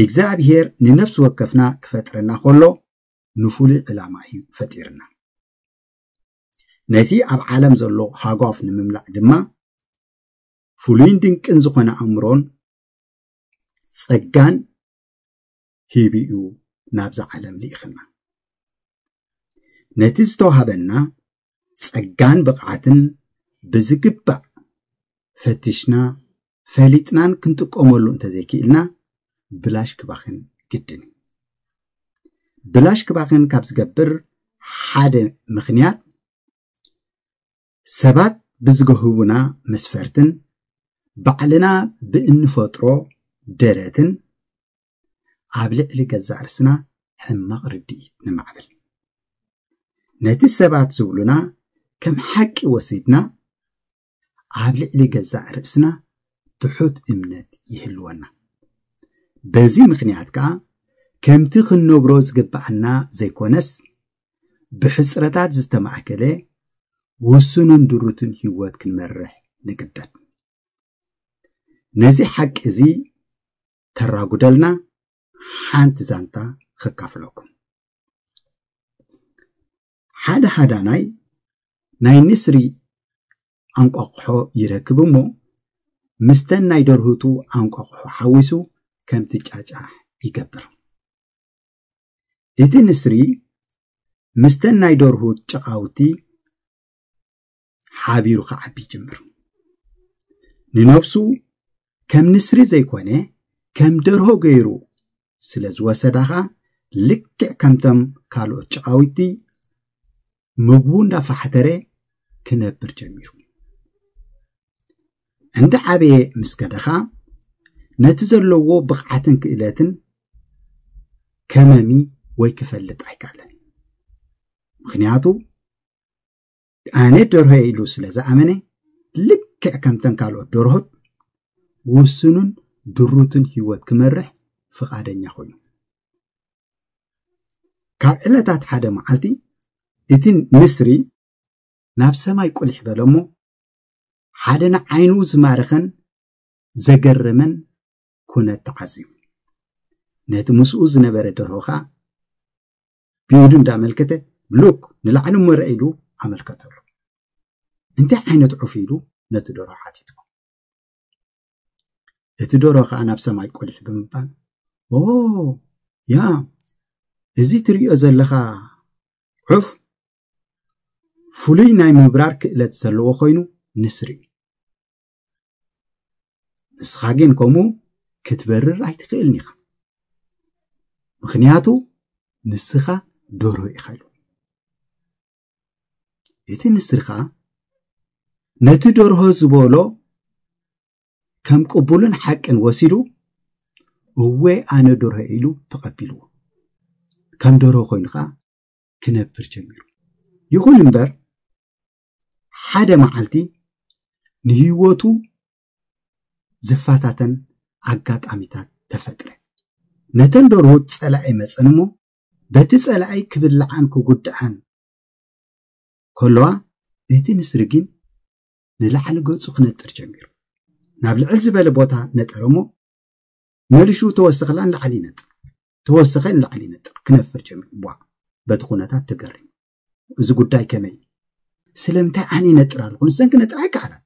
እግዚኣብሔር ንነፍሲ ወከፍና ክፈጥረና ከሎ ንፍሉይ ዕላማ እዩ ፈጢርና። ነቲ ኣብ ዓለም ዘሎ ሃጓፍ ንምምላእ ድማ ፍሉይን ድንቅን ዝኾነ ኣእምሮን ጸጋን ሂቡ እዩ ናብዛ ዓለም ልኢኽና። ነቲ ዝተዋህበና ጸጋን ብቕዓትን ብዝግባእ ፈቲሽና ፈሊጥናን ክንጥቀመሉ እንተዘይክኢልና ብላሽ ክባኽን ግድን እዩ። ብላሽ ክባኽን ካብ ዝገብር ሓደ ምኽንያት ሰባት ብዝገህቡና መስፈርትን ባዕልና ብእንፈጥሮ ደረትን ኣብ ልዕሊ ገዛእ ርእስና ሕማቕ ርድኢት ንማዕብል። ነቲ ሰባት ዝብሉና ከም ሓቂ ወሲድና ኣብ ልዕሊ ገዛእ ርእስና ትሑት እምነት ይህልወና። በዚ ምኽንያት ከኣ ከምቲ ክንነብሮ ዝግብኣና ዘይኮነስ ብሕጽረታት ዝተማእከለ ውሱንን ድሩትን ህይወት ክንመርሕ ንግደድ። ነዚ ሓቂ እዚ ተራጉደልና ሓንቲ ዛንታ ከካፍለኩም። ሓደ ሃዳናይ ናይ ንስሪ ኣንቋቑሖ ይረክብ እሞ ምስተን ናይ ደርሁቱ ኣንቋቑሖ ሓዊሱ ከምቲ ጫጫሕ ይገብር። እቲ ንስሪ ምስተን ናይ ደርሁት ጨቓውቲ ሓቢሩ ክዓቢ ይጅምር። ንነብሱ ከም ንስሪ ዘይኮነ ከም ደርሆ ገይሩ ስለ ዝወሰዳ ኸኣ ልክዕ ከምቶም ካልኦት ጨቓዊቲ ምግቡ እንዳፋሕተረ ክነብር ጀሚሩ። እንዳ ዓበየ ምስ ከደ ኸኣ ነቲ ዘለዎ ብቕዓትን ክእለትን ከመሚ ወይ ክፈልጥ ኣይከኣለን። ምኽንያቱ ኣነ ደርሆ ኢሉ ስለ ዝኣመነ ልክዕ ከምተን ካልኦት ደርሆት ውሱንን ድሩትን ህይወት ክመርሕ ፍቓደኛ ኮይኑ። ካብ ዕለታት ሓደ መዓልቲ እቲ ንስሪ ናብ ሰማይ ቁሊሕ በለ እሞ ሓደ ንዓይኑ ዝማረኸን ዘገረመን ኩነት ተዓዚቡ። ነቲ ምስኡ ዝነበረ ደርሆ ኸኣ ብኢዱ እንዳመልከተ ሉክ ንላዕሊ እሞ ርአ ኢሉ ኣመልከተሉ። እንታይ ዓይነት ዑፍ ኢሉ ነቲ ደርሆ ሓቲትዎ። እቲ ደርሆ ኸኣ ናብ ሰማይ ቁሊሕ ብምባል ኦ ያ እዚ ትርእዮ ዘለኻ ዑፍ ፍሉይ ናይ ምብራር ክእለት ዘለዎ ኮይኑ ንስሪ እዩ። ንስኻ ግን ከምኡ ክትበርር ኣይትኽእልን ኢኻ። ምኽንያቱ ንስኻ ደርሆ ኢኻ ኢሉ። እቲ ንስሪ ኸኣ ነቲ ደርሆ ዝበሎ ከም ቅቡልን ሓቅን ወሲዱ እወ ኣነ ደርሆ ኢሉ ተቐቢልዎ። ከም ደርሆ ኮይኑ ኸኣ ክነብር ጀሚሩ። ይኹን እምበር ሓደ መዓልቲ ንህይወቱ ዝፈታተን ኣጋጣሚታት ተፈጥረ። ነተን ደርሁት ጸላኢ መጸን እሞ በቲ ጸላኢ ክብልዓን ክጉድኣን ከለዋ እቲ ንስሪ ግን ንላዕሊ ገጹ ክነጥር ጀሚሩ። ናብ ልዕል ዝበለ ቦታ ነጠረ እሞ መሊሹ ተወሰኸላ ንላዕሊ ይነጥር፣ ተወሰኸ ንላዕሊ ይነጥር ክነፍር ጀሚሩ። ቧ በቲ ኩነታት ተገሪሙ። እዚ ጉዳይ ከመይ ስለምንታይ ኣነ ይነጥር ኣለኹ ንሰን ክነጥር ኣይከኣላን፣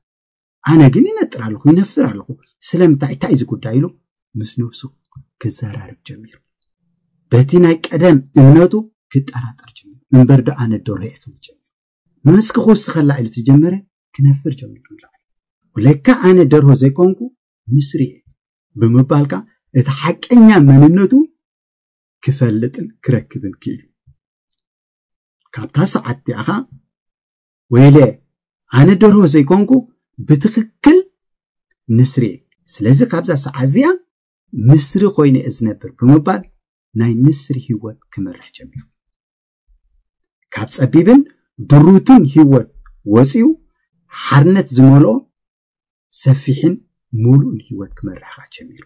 ኣነ ግን ይነጥር ኣለኹ ይነፍር ኣለኹ ስለምንታይ እንታይ እዚ ጉዳይ ኢሉ ምስ ነብሱ ክዘራረብ ጀሚሩ። በቲ ናይ ቀደም እምነቱ ክጠራጠር ጀሚሩ። እምበር ዶ ኣነ ደርሆ እየ ክብል ጀሚሩ። መስክ ክውስኸላ ኢሉ ተጀመረ ክነፍር ጀሚሩ። ለካ ኣነ ደርሆ ዘይኮንኩ ንስሪ እየ ብምባልካ እቲ ሓቀኛ መንነቱ ክፈልጥን ክረክብን ክኢሉ። ካብታ ሰዓት እቲኣ ኸኣ ወይለ ኣነ ደርሆ ዘይኮንኩ ብትኽክል ንስሪ እየ። ስለዚ ካብዛ ሰዓት እዚኣ ንስሪ ኮይነ እየ ዝነብር ብምባል ናይ ንስሪ ህይወት ክመርሕ ጀሚሩ። ካብ ጸቢብን ድሩትን ህይወት ወጺኡ ሓርነት ዝመልኦ ሰፊሕን ሙሉእን ህይወት ክመርሕ ኸኣ ጀሚሩ።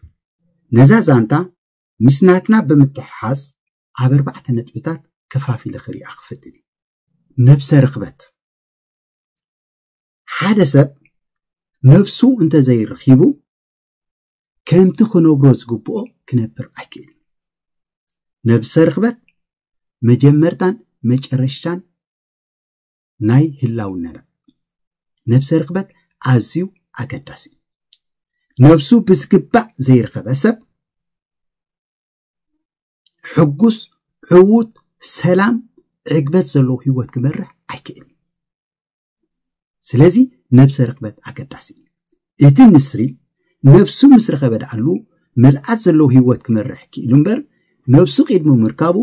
ነዛ ዛንታ ምስ ናትና ብምትሕሓዝ ኣብ ኣርባዕተ ነጥብታት ከፋፊለ ክሪኣ ክፍትን እዩ። ነብሰ ርኽበት። ሓደ ሰብ ነብሱ እንተዘይረኺቡ ከምቲ ክነብሮ ዝግብኦ ክነብር ኣይክእልን። ነብሰ ርኽበት መጀመርታን መጨረሻን ናይ ህላውነና። ነብሰ ርኽበት ኣዝዩ ኣገዳሲ እዩ። ነብሱ ብዝግባእ ዘይረኸበ ሰብ ሕጉስ፣ ዕዉት፣ ሰላም፣ ዕግበት ዘለዎ ህይወት ክመርሕ ኣይክእልን። ስለዚ ነብሰ ርኽበት ኣገዳሲ እዩ። እቲ ንስሪ ነብሱ ምስ ረኸበ ደኣሉ ምልኣት ዘለዎ ህይወት ክመርሕ ክኢሉ እምበር፣ ነብሱ ቅድሚ ምርካቡ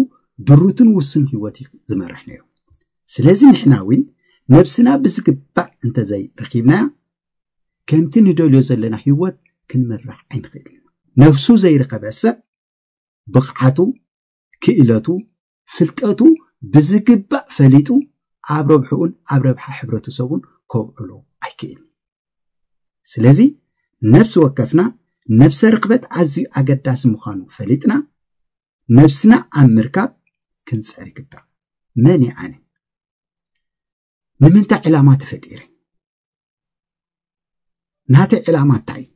ድሩትን ውሱን ህይወት እዩ ዝመርሕ ነይሩ። ስለዚ ንሕና እውን ነብስና ብዝግባእ እንተዘይ ረኺብናያ፣ ከምቲ ንደልዮ ዘለና ህይወት ክንመርሕ ኣይንኽእልን። ነብሱ ዘይረኸበ ሰብ ብቕዓቱ፣ ክእለቱ፣ ፍልጠቱ ብዝግባእ ፈሊጡ ኣብ ረብሕኡን ኣብ ረብሓ ሕብረተሰቡን ከውዕሎ ኣይክእልን። ስለዚ ነብሲ ወከፍና ነብሰ ርኽበት ኣዝዩ ኣገዳሲ ምዃኑ ፈሊጥና፣ ነብስና ኣብ ምርካብ ክንጽዕር ይግባእ። መን እየ ኣነ? ንምንታይ ዕላማ ተፈጢረ? ናተይ ዕላማ እንታይ እዩ?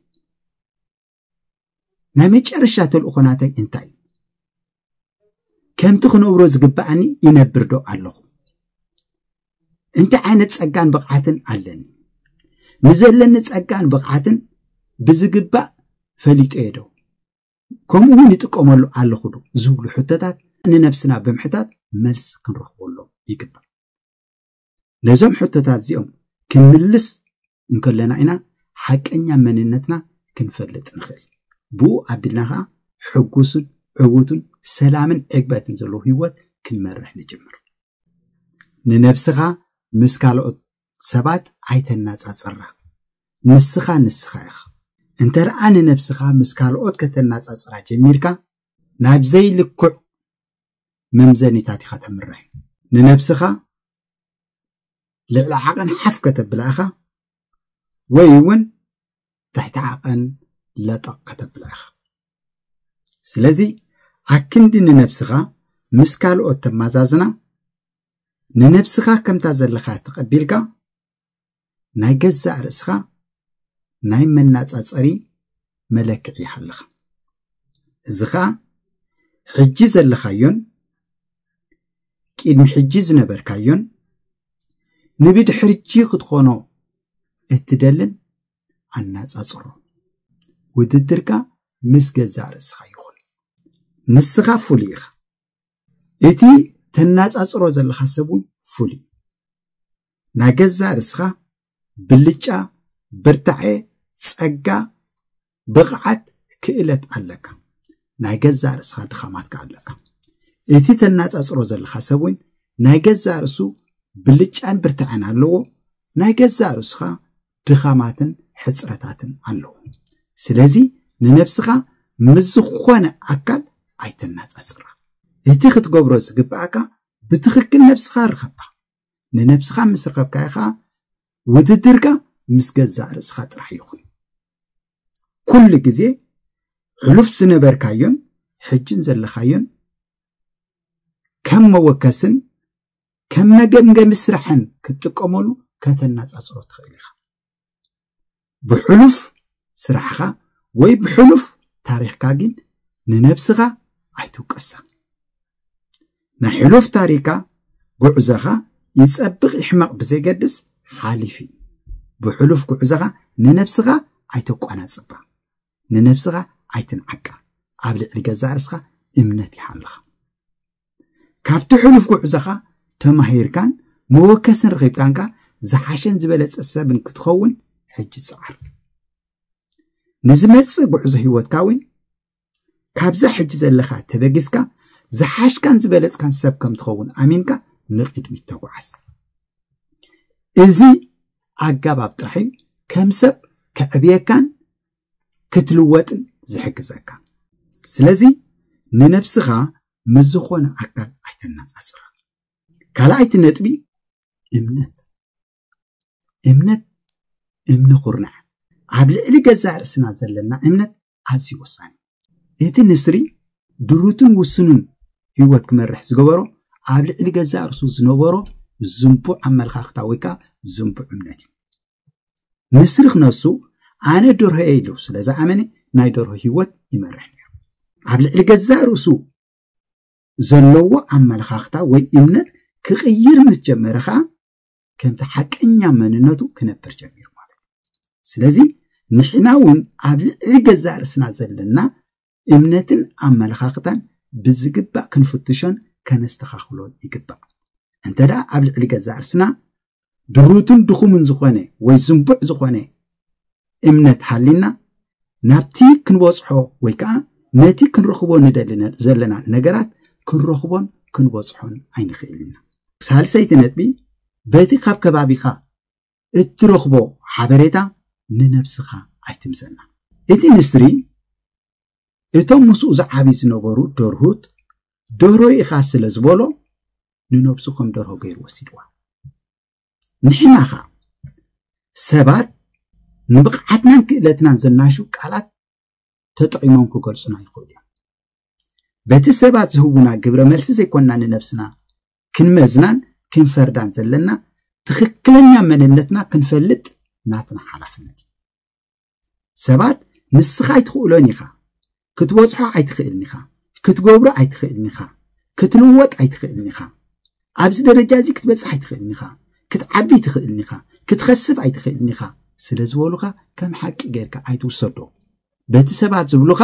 ናይ መጨረሻ ተልእኾ ናተይ እንታይ እዩ? ከምቲ ክነብሮ ዝግብኣኒ ይነብር ዶ ኣለኹ? እንታይ ዓይነት ጸጋን ብቕዓትን ኣለኒ? ንዘለኒ ጸጋን ብቕዓትን ብዝግባእ ፈሊጠዮ ዶ? ከምኡ እውን ይጥቀመሉ ኣለኹ ዶ? ዝብሉ ሕቶታት ንነብስና ብምሕታት መልሲ ክንረኽበሎም ይግባእ። ነዞም ሕቶታት እዚኦም ክንምልስ እንከለና ኢና ሓቀኛ መንነትና ክንፈልጥ ንኽእል። ብኡ ኣቢልና ኸዓ ሕጉስን ዕዉትን ሰላምን ዕግበትን ዘለዎ ህይወት ክንመርሕ ንጅምር። ንነብስኻ ምስ ካልኦት ሰባት ኣይተናጻጽራ። ንስኻ ንስኻ ኢኻ። እንተ ደኣ ንነብስኻ ምስ ካልኦት ከተናጻጽራ ጀሚርካ፣ ናብ ዘይልኩዕ መምዘኒታት ኢኻ ተምርሕ። ንነብስኻ ልዕሊ ዓቐን ሓፍ ከተብላ ኢኻ፣ ወይ እውን ትሕቲ ዓቐን ለጠቕ ከተብላ ኢኻ። ስለዚ ኣክንዲ ንነብስኻ ምስ ካልኦት ተማዛዝና፣ ንነብስኻ ከምታ ዘለኻ ተቐቢልካ፣ ናይ ገዛእ ርእስኻ ናይ መናጻጸሪ መለክዒ ይሃልኻ። እዚ ኸኣ ሕጂ ዘለኻዮን ቅድሚ ሕጂ ዝነበርካዮን ንብድሕርጂ ክትኾኖ እትደልን ኣናጻጽሮ። ውድድርካ ምስ ገዛእ ርእስኻ ይኹን። ንስኻ ፍሉይ ኢኻ። እቲ ተናጻጽሮ ዘለኻ ሰብ እውን ፍሉይ። ናይ ገዛእ ርእስኻ ብልጫ፣ ብርታዐ፣ ጸጋ፣ ብቕዓት፣ ክእለት ኣለካ። ናይ ገዛእ ርእስኻ ድኻማትካ ኣለካ። እቲ ተናጻጽሮ ዘለኻ ሰብ እውን ናይ ገዛእ ርእሱ ብልጫን ብርታዐን ኣለዎ። ናይ ገዛእ ርእስኻ ድኻማትን ሕጽረታትን ኣለዎ። ስለዚ ንነብስኻ ምስ ዝኾነ ኣካል ኣይተናጻጽራ። እቲ ክትገብሮ ዝግብኣካ ብትኽክል ነብስኻ ርኸባ። ንነብስኻ ምስ ረኸብካዮ ኸኣ ውድድርካ ምስ ገዛእ ርእስኻ ጥራሕ ይኹን። ኩሉ ግዜ ሕሉፍ ዝነበርካዮን ሕጅን ዘለኻዮን ከም መወከስን ከም መገምገሚ ስራሕን ክትጥቀመሉ ከተናጻጽሮ ትኽእል ኢኻ። ብሕሉፍ ስራሕኻ ወይ ብሕሉፍ ታሪኽካ ግን ንነብስኻ ኣይትውቀሳ። ናይ ሕሉፍ ታሪካ ጉዕዞኻ ይጸብቕ ይሕመቕ ብዘይገድስ ሓሊፍ እዩ። ብሕሉፍ ጉዕዞኻ ንነብስኻ ኣይተቋናጽባ። ንነብስኻ ኣይትንዓቃ። ኣብ ልዕሊ ገዛእ ርእስኻ እምነት ይሃልኻ። ካብቲ ሕሉፍ ጉዕዞኻ ተማሂርካን መወከስን ረኺብካንካ ዝሓሸን ዝበለጸ ሰብን ክትኸውን ሕጂ ጽዓር። ንዝመጽእ ጉዕዞ ህይወትካ እውን ካብዛ ሕጂ ዘለኻ ተበጊስካ ዝሓሽካን ዝበለጽካን ሰብ ከም ትኸውን ኣሚንካ ንቕድሚት ተጓዓዝ። እዚ ኣገባብ ጥራሕ እዩ ከም ሰብ ከዕብየካን ክትልወጥን ዝሕግዘካ። ስለዚ ንነብስኻ ምስ ዝኾነ ኣካል ኣይተነጻጽራ። ካልኣይቲ ነጥቢ እምነት። እምነት እምኒ ኩርናዕ። ኣብ ልዕሊ ገዛእ ርእስና ዘለና እምነት ኣዝዩ ወሳኒ። እቲ ንስሪ ድሩትን ውሱንን ህይወት ክመርሕ ዝገበሮ ኣብ ልዕሊ ገዛእ ርእሱ ዝነበሮ ዝንቡዕ ኣመለኻኽታ ወይ ከዓ ዝንቡዕ እምነት እዩ። ንስሪ ክነሱ ኣነ ደርሆ እየ ኢሉ ስለ ዝኣመነ ናይ ደርሆ ህይወት ይመርሕ ነይሩ። ኣብ ልዕሊ ገዛእ ርእሱ ዘለዎ ኣመለኻኽታ ወይ እምነት ክቕይር ምስ ጀመረ ኸዓ ከምቲ ሓቀኛ መንነቱ ክነብር ጀሚሩ ማለት እዩ። ስለዚ ንሕና እውን ኣብ ልዕሊ ገዛእ ርእስና ዘለና እምነትን ኣመለኻኽታን ብዝግባእ ክንፍትሾን ከነስተኻኽሎን ይግባእ። እንተ ደኣ ኣብ ልዕሊ ገዛእ ርእስና ድሩትን ድኹምን ዝኾነ ወይ ዝንቡዕ ዝኾነ እምነት ሃሊና ናብቲ ክንበጽሖ ወይ ከዓ ነቲ ክንረኽቦ ንደሊ ዘለና ነገራት ክንረኽቦን ክንበጽሖን ኣይንኽእል ኢና። ሳልሰይቲ ነጥቢ፣ በቲ ካብ ከባቢኻ እትረኽቦ ሓበሬታ ንነብስኻ ኣይትምሰና። እቲ ንስሪ እቶም ምስኡ ዝዓብዩ ዝነበሩ ደርሁት ደርሆ ኢኻ ስለ ዝበሎ ንነብሱ ከም ደርሆ ገይሩ ወሲድዋ። ንሕና ኸ ሰባት ንብቕዓትናን ክእለትናን ዘናሹ ቃላት ተጠቒሞም ክገልጹና ይኽእሉ እዮም። በቲ ሰባት ዝህቡና ግብረ መልሲ ዘይኮንና ንነብስና ክንመዝናን ክንፈርዳን ዘለና ትኽክለኛ መንነትና ክንፈልጥ ናትና ሓላፍነት እዩ። ሰባት ንስኻ ኣይትኽእሎን ኢኻ፣ ክትበጽሖ ኣይትኽእልን ኢኻ፣ ክትገብሮ ኣይትኽእልን ኢኻ፣ ክትልወጥ ኣይትኽእልን ኢኻ፣ ኣብዚ ደረጃ እዚ ክትበጽሕ ኣይትኽእልን ኢኻ፣ ክትዓቢ ኣይትኽእልን ኢኻ፣ ክትኸስብ ኣይትኽእልን ኢኻ ስለ ዝበሉኻ ከም ሓቂ ጌርካ ኣይትውሰዶ። በቲ ሰባት ዝብሉኻ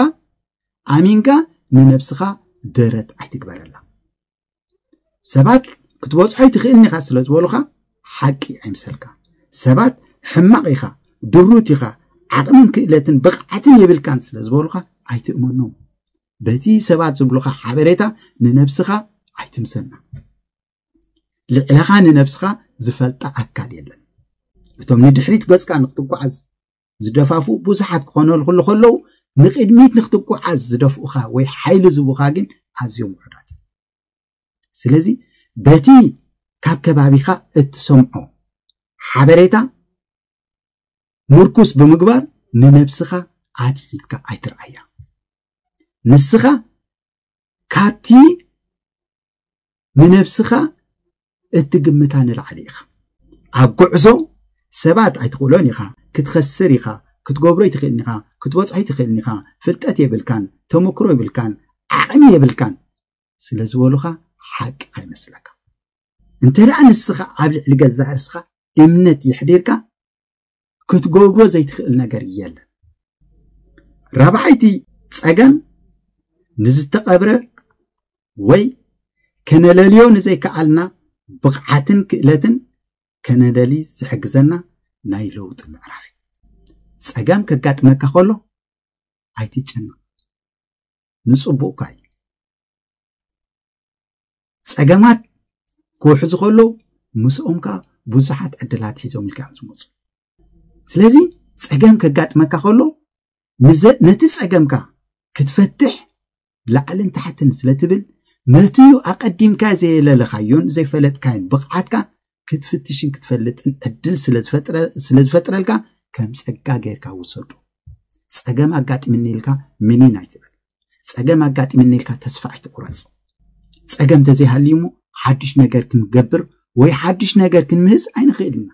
ኣሚንካ ንነብስኻ ደረት ኣይትግበረላ። ሰባት ክትበጽሖ ኣይትኽእልን ኢኻ ስለ ዝበሉኻ ሓቂ ኣይምሰልካ። ሰባት ሕማቕ ኢኻ፣ ድሩት ኢኻ፣ ዓቕምን ክእለትን ብቕዓትን የብልካን ስለ ዝበሉኻ ኣይትእመኖም። በቲ ሰባት ዝብሉኻ ሓበሬታ ንነብስኻ ኣይትምሰና። ልዕለኻ ንነብስኻ ዝፈልጣ ኣካል የለን። እቶም ንድሕሪት ገጽካ ንክትጓዓዝ ዝደፋፉ ብዙሓት ክኾነልኩሉ ከለዉ ንቕድሚት ንክትጓዓዝ ዝደፍኡኻ ወይ ሓይሊ ዝህቡኻ ግን ኣዝዮም ውሑዳት እዮም። ስለዚ በቲ ካብ ከባቢኻ እትሰምዖ ሓበሬታ ምርኩስ ብምግባር ንነብስኻ ኣትሒትካ ኣይትርኣያ። ንስኻ ካብቲ ንነብስኻ እትግምታ ንላዕሊ ኢኻ። ኣብ ጉዕዞ ሰባት ኣይትኽእሎን ኢኻ፣ ክትኸስር ኢኻ፣ ክትገብሮ ኣይትኽእልን ኢኻ፣ ክትበጽሖ ኣይትኽእልን ኢኻ፣ ፍልጠት የብልካን፣ ተመክሮ የብልካን፣ ዓቕሚ የብልካን ስለ ዝበሉኻ ሓቂ ከይመስለካ። እንተ ደኣ ንስኻ ኣብ ልዕሊ ገዛእ ርእስኻ እምነት የሕዲርካ ክትገብሮ ዘይትኽእል ነገር የለን። ራብዓይቲ ጸገም ንዝተቐብረ ወይ ከነለልዮ ንዘይከኣልና ብቕዓትን ክእለትን ከነደሊ ዝሕግዘና ናይ ለውጢ ምዕራፍ እዩ። ጸገም ከጋጥመካ ከሎ ኣይትጨነቕ፣ ንጽቡቕካ እዩ። ጸገማት ክውሕዙ ከለዉ ምስኦም ከኣ ብዙሓት ዕድላት ሒዞም ኢልካ እዮም ዝመጹ። ስለዚ ጸገም ከጋጥመካ ከሎ ንዘ- ነቲ ጸገምካ ክትፈትሕ ላዕልን ታሕትን ስለ ትብል ነትዩ ኣቐዲምካ ዘየለለኻዮን ዘይፈለጥካዮን ብቕዓትካ ክትፍትሽን ክትፈልጥን ዕድል ስለ ዝፈጥረ- ስለ ዝፈጥረልካ ከም ጸጋ ጌርካ ውሰዶ። ጸገም ኣጋጢምኒ ኢልካ ምኒን ኣይትበል። ጸገም ኣጋጢምኒ ኢልካ ተስፋ ኣይትቁረጽ። ጸገም ተዘይሃልዩ እሞ ሓድሽ ነገር ክንገብር ወይ ሓድሽ ነገር ክንምህዝ ኣይንኽእል ኢና።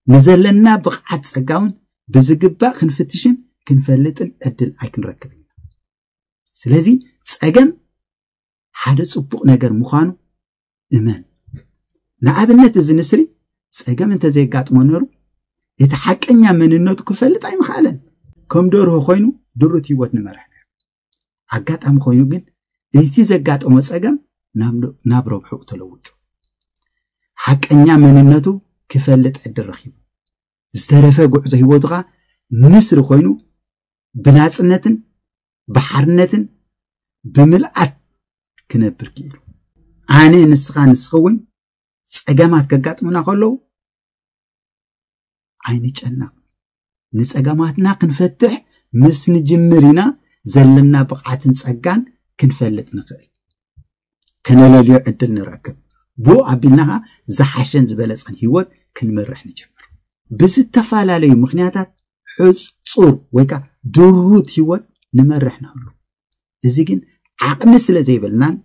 ንዘለና ብቕዓት ጸጋ እውን ብዝግባእ ክንፍትሽን ክንፈልጥን ዕድል ኣይክንረክብን ኢና። ስለዚ ጸገም ሓደ ጽቡቕ ነገር ምዃኑ እመን። ንኣብነት እዚ ንስሪ ጸገም እንተዘየጋጥሞ ነሩ እቲ ሓቀኛ መንነቱ ክፈልጥ ኣይምኽኣለን። ከም ደርሆ ኮይኑ ድሩት ህይወት ንመርሕ ነሩ። ኣጋጣሚ ኮይኑ ግን እቲ ዘጋጠሞ ጸገም ናብ- ናብ ረብሕኡ ተለውጡ። ሓቀኛ መንነቱ ክፈልጥ ዕድል ረኺቡ። ዝተረፈ ጉዕዞ ህይወቱ ኸኣ ንስሪ ኮይኑ ብናጽነትን ብሓርነትን ብምልኣት ክነብር ክኢሉ። ኣነ፣ ንስኻ፣ ንስኺ እውን ጸገማት ከጋጥሙና ከለዉ ኣይንጨነቕ። ንጸገማትና ክንፈትሕ ምስ ንጅምር ኢና ዘለና ብቕዓትን ጸጋን ክንፈልጥ ንኽእል። ከነለልዮ ዕድል ንረክብ። ብኡ ኣቢልና ኸኣ ዝሓሸን ዝበለጸን ህይወት ክንመርሕ ንጅምር። ብዝተፈላለዩ ምኽንያታት ሕጹር ወይ ከኣ ድሩት ህይወት ንመርሕ ንህሉ። እዚ ግን ዓቕሚ ስለ ዘይብልናን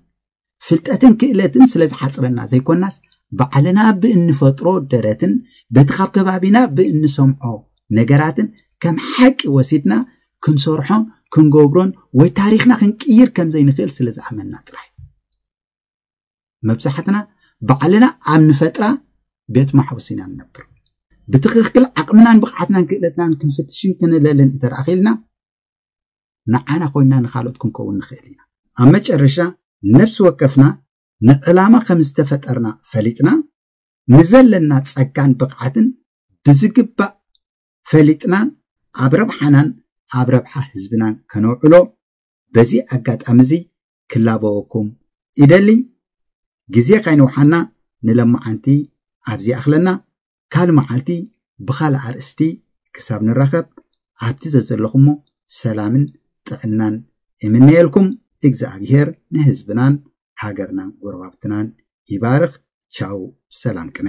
ፍልጠትን ክእለትን ስለ ዝሓጽረና ዘይኮናስ ባዕልና ብእንፈጥሮ ደረትን በቲ ካብ ከባቢና ብእንሰምዖ ነገራትን ከም ሓቂ ወሲድና ክንሰርሖን ክንገብሮን ወይ ታሪኽና ክንቅይር ከም ዘይንኽእል ስለ ዝኣመንና ጥራይ። መብዛሕትና ባዕልና ኣብ ንፈጥራ ቤት ማሕቡስ ኢና ንነብር። ብትኽክል ዓቕምናን ብቕዓትናን ክእለትናን ክንፍትሽን ክንለልን እንተ ደኣ ኽኢልና፣ ንዓና ኮይንና ንኻልኦት ክንከውን ንኽእል ኢና። ኣብ መጨረሻ፣ ነፍሲ ወከፍና ንዕላማ ከም ዝተፈጠርና ፈሊጥና፣ ንዘለና ጸጋን ብቕዓትን ብዝግባእ ፈሊጥናን ኣብ ረብሓናን ኣብ ረብሓ ህዝብናን ከነውዕሎ በዚ ኣጋጣሚ እዚ ክላበወኩም ይደሊ። ግዜ ካይንውሓና ንለማዓንቲ ኣብዚ ኣኽለና። ካልእ መዓልቲ ብኻልእ ኣርእስቲ ክሳብ ንራኸብ፣ ኣብቲ ዘዘለኹሞ ሰላምን ጥዕናን እምነየልኩም። እግዚኣብሔር ንህዝብናን ሃገርናን ጎረባብትናን ይባርኽ። ቻው፣ ሰላም ቅነ።